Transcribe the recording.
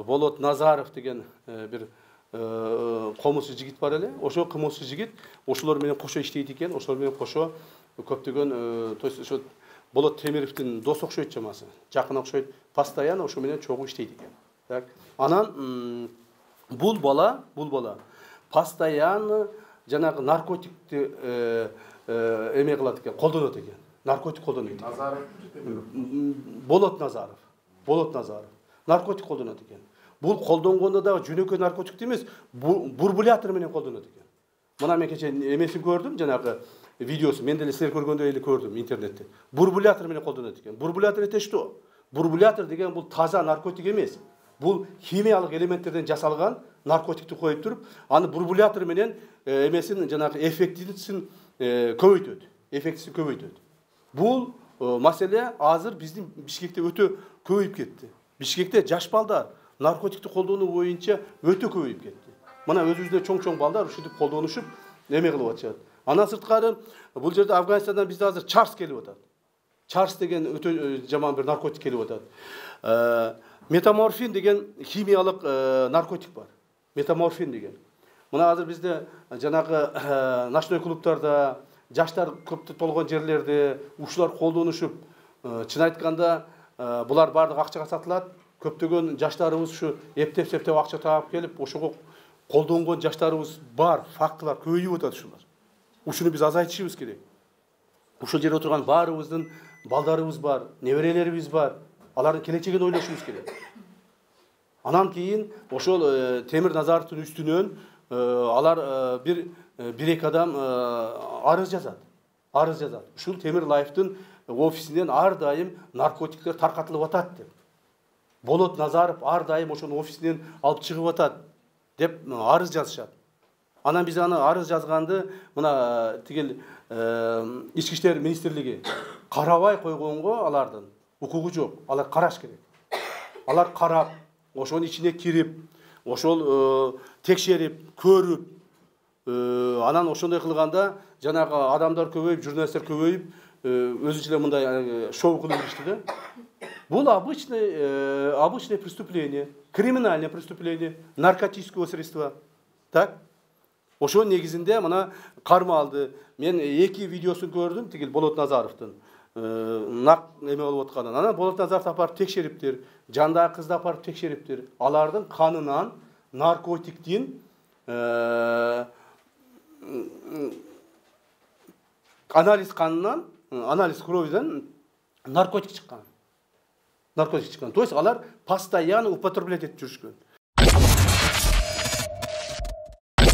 Болот Назаров деген бир комузчу жигит бар эле. Ошо комузчу жигит ошолор менен кошо иштейт экен. Ошолор менен кошо көптөгөн, то есть ошо Болот Темировдун дос окшойт чамасы. Жакын окшойт. Постоянно ошо менен чогуу иштейт экен. Так. Анан бул бала постоянно жанагы наркотикти эме кылат экен, колдонот экен. Наркотик колдонот. Назаров. Болот Назаров. Наркотик колдонот экен. Бул колдонгондо дагы жөнөкөй наркотик эмес, бурбулятор менен колдонот экен. Мына мен кече эмесин көрдүм, жанагы видеосу, мен деле силер көргөндөй эле көрдүм интернетте. Бурбулятор менен колдонот экен. Бурбулятор это что? Бурбулятор деген бул таза наркотик эмес. Бул химиялык элементтерден жасалган наркотикти коюп туруп, аны бурбулятор менен эмесин жанагы эффектисин көбөйтөт. Бул маселе азыр биздин Бишкекте өтө көбөйүп кетти. Бишкекте жаш балдар наркотикти колдонуу боюнча өтө көбөйүп кетти. Мына өзүбүздө чоң балдар ушинтип колдонушуп эме кылып атышат. Андан сырткары бул жерде Афганистандан бизде азыр чарс келип атат. Чарс деген өтө жаман бир наркотик келип атат. Метаморфин деген химиялык наркотик бар. Метаморфин деген. Мына азыр бизде жанагы ночной клубтарда, жаштар көп болгон жерлерде ушулар колдонушуп, чын айтканда булар баардыгы акчага сатылат. Көптөгөн жаштарыбыз ушу эптеп акча таап келип, ошого колдонгон жаштарыбыз бар, фактылар көбөйүп атат ушулар. Ушуну биз азайтышыбыз керек. Ушул жерде отурган баарыбыздын балдарыбыз бар, неберелерибиз бар. Алардын келечегин ойлошубуз керек. Анан кийин ошол Темир Назаровдун үстүнөн алар бир-эки адам арыз жазат. Ушул Темир Лайфтын офисинен ар дайым наркотиктер таркатылып атат деп. Болот Назаров ар дайым ошонун офисинен алып чыгып атат деп арыз жазышат. Анан биз аны арыз жазганды мына тигил Ички иштер министрлиги карабай койгонго алардын укугу жок. Алар караш керек. Алар карап, ошонун ичине кирип, ошол текшерип, көрүп, анан ошондой кылганда жанагы адамдар көбөйүп, журналисттер көбөйүп, өзүнчө эле мындай шоу кылып жүрүштү да. Бул обычное преступление, криминальное преступление, наркотического средства. Так? Ошо негизинде мына карма алды. Мен 2 видеосун көрдүм, тигил Болот Назаровдун. Нак эме болуп атканын. Анан Болот Назаровду апарып текшериптир, жандагы кызды апарып текшериптир. Алардын канынан наркотиктин анализ кровидан наркотик чыккан. То есть алар постоянно употреблять этип жүрүшкөн.